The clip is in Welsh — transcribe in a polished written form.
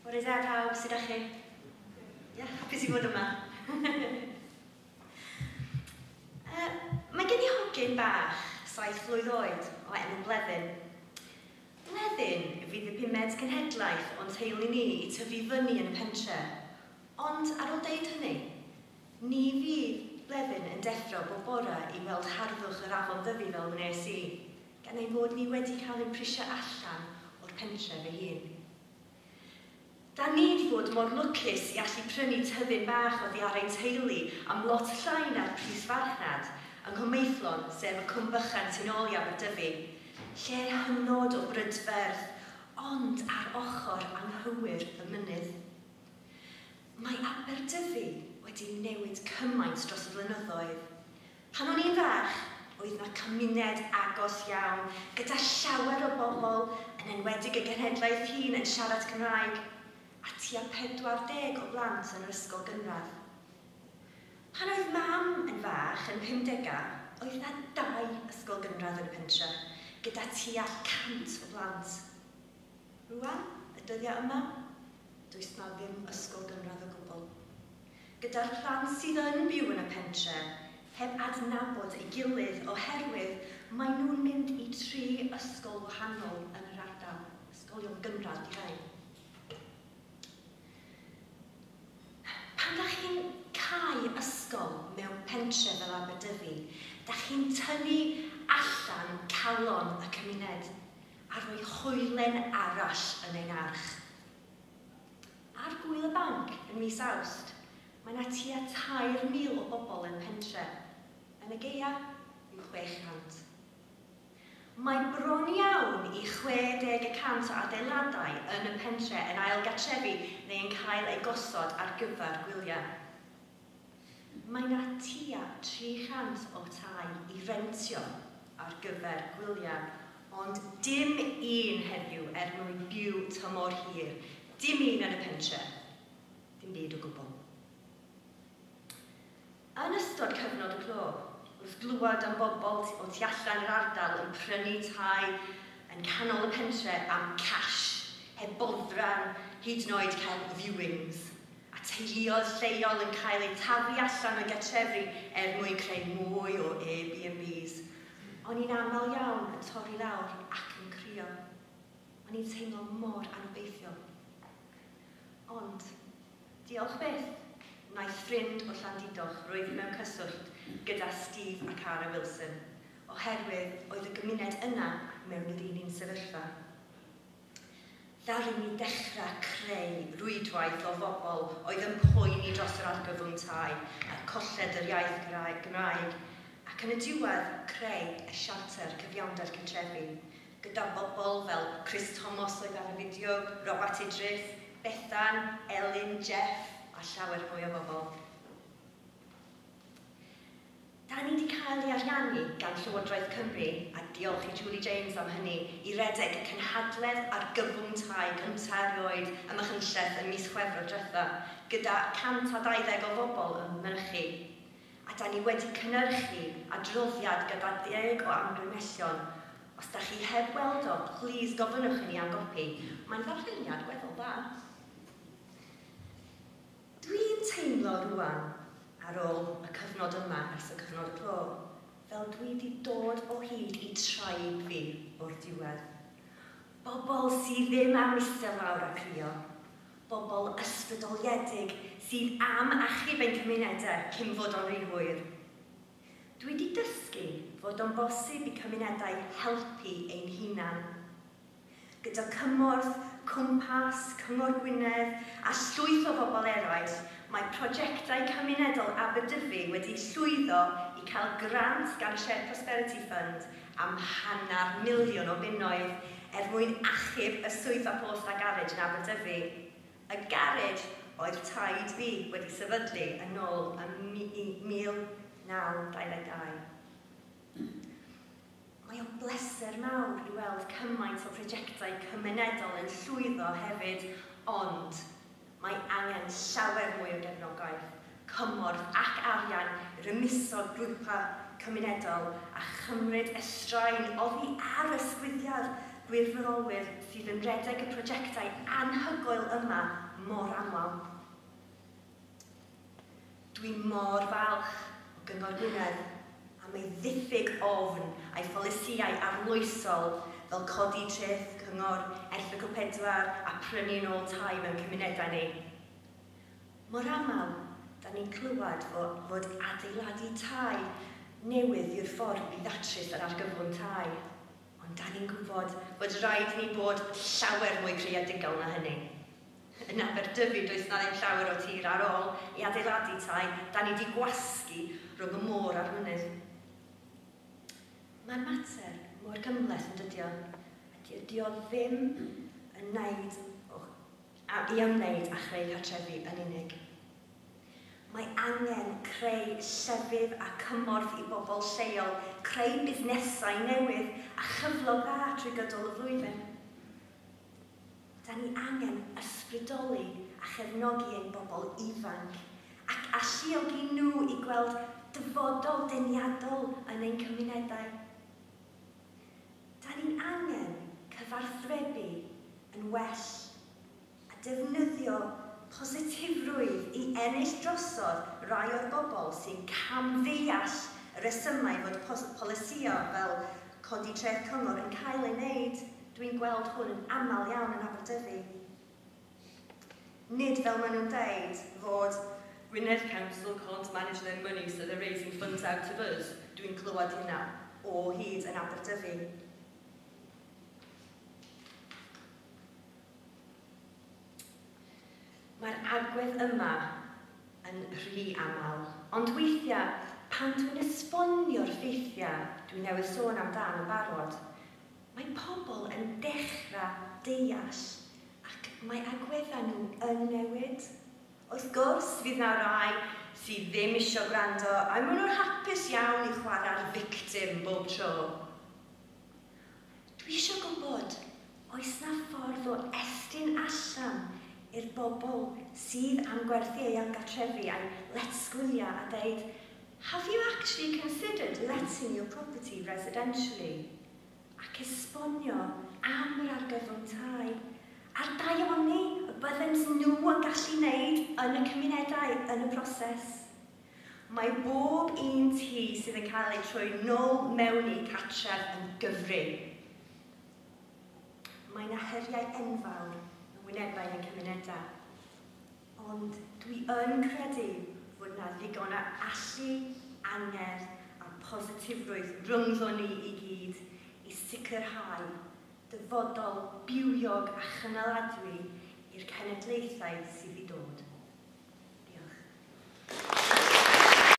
Bore da pawb, sut ydych chi? Ie, hapus i fod yma. Mae gen i hogyn bach, 7 flwydd oed, o enw Bleddyn. Bleddyn fydd y pumed cenhedlaeth o'n teulu ni i tyfu fyny yn y pentre. Ond ar ôl deud hynny, ni fydd Bleddyn yn deffro bob bore i weld harddwch yr afon Ddyfi fel wnes i, gan ein bod ni wedi cael ein prisio allan o'r pentre fy hun. Da ni 'di bod mor lwcus i allu prynu tyddyn bach oddi ar ein teulu am lot llai na'r pris farchnad, yng Nghwm sef y cwm bychan tu nôl i Aberdyfi. Lle hynod o brydferth, ond ar ochr anghywir y mynydd. Mae Aberdyfi wedi newid cymaint dros y blynyddoedd. Pan o'n i'n fach, oedd 'na cymuned agos iawn, gyda llawer o bobl, yn enwedig y genhedlaeth hŷn yn siarad Cymraeg, a tua 40 o blant yn yr ysgol gynradd. Pan oedd mam yn fach, yn 50au, oedd 'na 2 ysgol gynradd yn y pentre, gyda tua 100 o blant. Rwan, y dyddiau yma, does 'na ddim ysgol gynradd o gwbl. Gyda'r plant sydd yn byw yn y pentre, heb adnabod ei gilydd oherwydd maen nhw'n mynd i 3 ysgol wahanol yn yr ardal, ysgolion gynradd di rhain. Pan da chi'n cau ysgol mewn pentre fel Aberdyfi, da chi'n tynnu allan calon y cymuned a rhoi hoelen arall yn ein arch. Ar Gwyl y Banc yn mis Awst, mae yna tua 3,000 o bobl yn pentre. Yn y gaea, yw 600. Mae bron iawn i 60% o adeiladau yn y pentre yn ail gartrefi neu yn cael eu gosod ar gyfer gwyliau. Mae yna tua 300 o tai i rentio ar gyfer gwyliau, ond dim un heddiw er mwyn byw tymor hir. Dim un yn y pentre. Dim byd o gwbl. Yn ystod cyfnod y clo, wrth glywed am bobl o tu allan yr ardal yn prynu tai yn canol y pentre am cash, heb boddran, hyd yn oed cael viewings, a teuluoedd lleol yn cael eu taflu allan o'i gartrefi er mwyn creu mwy o Airbnbs, o'n i'n aml iawn yn torri lawr ac yn crio. O'n i'n teimlo mor anobeithiol. Ond, diolch byth, wnaeth ffrind o Llandudoch roi fi mewn cyswllt gyda Steve a Cara Wilson, oherwydd oedd y gymuned yna mewn yr un sefyllfa. Ddaru ni dechrau creu rwydwaith o bobl oedd yn poeni dros yr argyfwng tai a colled yr iaith Gymraeg, ac yn y diwedd creu y Siarter Cyfiawnder Cartrefi, gyda bobl fel Chris Thomas oedd ar y fideo, Robert Idris, Bethan, Elin, Jeff, a llawer mwy o bobl. Da ni wedi cael ei ariannu gan Llywodraeth Cymru, a diolch i Julie James am hynny, i redeg y cynhadledd argyfwng tai cyntaf erioed ym Machynlleth yn mis Chwefror diwetha, gyda 120 o bobl yn mynychu. A da ni wedi cynhyrchu adroddiad gyda 10 o amgymhellion. Os da chi heb weld o, please gofynnwch i ni am gopi. Mae'n ddarlleniad gweddol dda. Dwi'n teimlo rwan, ar ôl y cyfnod yma, ers y cyfnod y clo, fel dwi wedi dod o hyd i tribe fi o'r diwedd. Bobl sydd ddim am eistedd lawr a crio. Bobl ysbrydoliedig sydd am achub ein cymunedau cyn fod o'n rhy hwyr. Dwi wedi dysgu fod o'n bosib i cymunedau helpu ein hunan. Gyda cymorth, Cwmpas, Cyngor Gwynedd a llwyth o bobl eraill, mae prosiectau cymunedol Aberdyfi wedi llwyddo i cael grant gan Shared Prosperity Fund am £500,000 o bunnoedd er mwyn achub y swyddfa post a garej yn Aberdyfi. Y garej oedd taid fi wedi sefydlu yn ôl ym 1922. Mae o'n bleser mawr i weld cymaint o prosiectau cymunedol yn llwyddo hefyd, ond mae angen llawer mwy o gefnogaeth, cymorth ac arian i rymuso grwpau cymunedol a chymryd y straen oddi ar ysgwyddiad gwirfoddolwyr sydd yn rhedeg y prosiectau anhygoel yma mor aml. Dwi mor falch o Gyngor Gwynedd am ei ddiffyg ofn a'i pholisïau arloesol fel codi treth cyngor, erthygl 4 a prynu nôl tai mewn cymunedau ni. Mor aml, da ni'n clywed fod adeiladu tai newydd yw'r ffordd i ddatrys yr argyfwng tai. Ond da ni'n gwybod bod rhaid i ni bod llawer mwy creadigol na hynny. Yn Aberdyfi, does na ddim llawer o tir ar ôl i adeiladu tai, da ni wedi gwasgu rhwng y môr a'r mynydd. Mae'r mater mor gymhleth yn dydi o. A dydi o ddim yn wneud i ymwneud â chreu cartrefi yn unig. Mae angen creu llefydd a cymorth i bobl lleol, creu busnesau newydd a chyflog dda trwy gydol y flwyddyn. Da ni angen ysbrydoli a chefnogi ein bobl ifanc ac alluogi nhw i gweld dyfodol deniadol yn ein cymunedau. Da ni'n angen cyfathrebu yn well a defnyddio positifrwydd i ennill drosodd rai o'r bobl sy'n camddeall y resymau fod polisïau fel codi treth cyngor yn cael ei wneud. Dwi'n gweld hwn yn aml iawn yn Aberdyfi. Nid fel maen nhw'n deud fod Gwynedd Council can't manage their money, so they're raising funds out of us. Dwi'n clywed hynna o hyd yn Aberdyfi. Mae'r agwedd yma yn rhy aml, ond weithiau, pan dwi'n esbonio'r ffeithiau dwi newydd sôn amdan yn barod, mae pobl yn dechrau deall ac mae agweddau nhw yn newid. Wrth gwrs, fydd na rai sydd ddim eisiau gwrando a maen nhw'n hapus iawn i chwarae'r victim bob tro. Dwi eisiau gwybod, oes na ffordd o estyn allan i'r bobl sydd am gwerthu eu gartrefi a'u lletgwyliau a deud, "Have you actually considered letting your property residentially?" Ac esbonio am yr argyfwng tai a'r daioni y byddent nhw yn gallu wneud yn y cymunedau yn y proses. Mae bob un tŷ sydd yn cael ei troi nôl mewn i cartref yn gyfri. Mae yna heriau enfawr yn wynebau ein cymunedau. Ond dwi yn credu fod yna ddigon o allu, angerdd a positifrwydd rhyngddo ni i gyd i sicrhau dyfodol bywiog a chynaladwy i'r cenedlaethau sydd i dod.